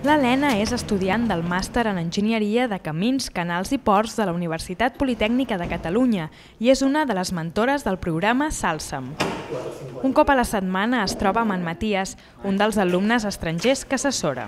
L'Helena és estudiant del màster en Enginyeria de Camins, Canals i Ports de la Universitat Politècnica de Catalunya i és una de les mentores del programa Salsam. Un cop a la setmana es troba amb en Matías, un dels alumnes estrangers que assessora.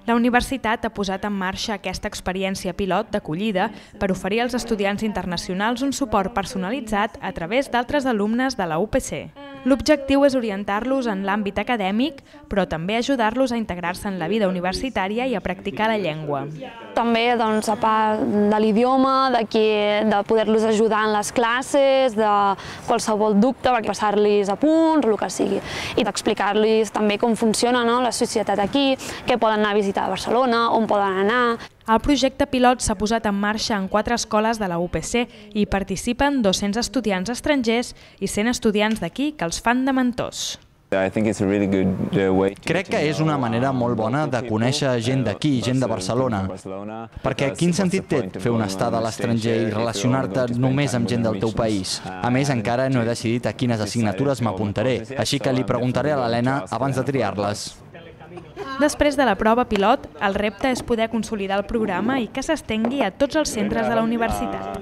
La universitat ha posat en marxa aquesta experiència pilot d'acollida per oferir als estudiants internacionals un suport personalitzat a través d'altres alumnes de la UPC. L'objectiu és orientar-los en l'àmbit acadèmic, però també ajudar-los a integrar-se en la vida universitària i a practicar la llengua. També, a part de l'idioma, de poder-los ajudar en les classes, de qualsevol dubte, passar-los a punts, el que sigui, i d'explicar-los també com funciona la societat aquí, què poden anar a visitar a Barcelona, on poden anar. El projecte pilot s'ha posat en marxa en 4 escoles de la UPC i participen 200 estudiants estrangers i 100 estudiants d'aquí que els fan de mentors. Crec que és una manera molt bona de conèixer gent d'aquí, gent de Barcelona, perquè quin sentit té fer una estada a l'estranger i relacionar-te només amb gent del teu país? A més, encara no he decidit a quines assignatures m'apuntaré, així que li preguntaré a l'Helena abans de triar-les. Després de la prova pilot, el repte és poder consolidar el programa i que s'estengui a tots els centres de la universitat.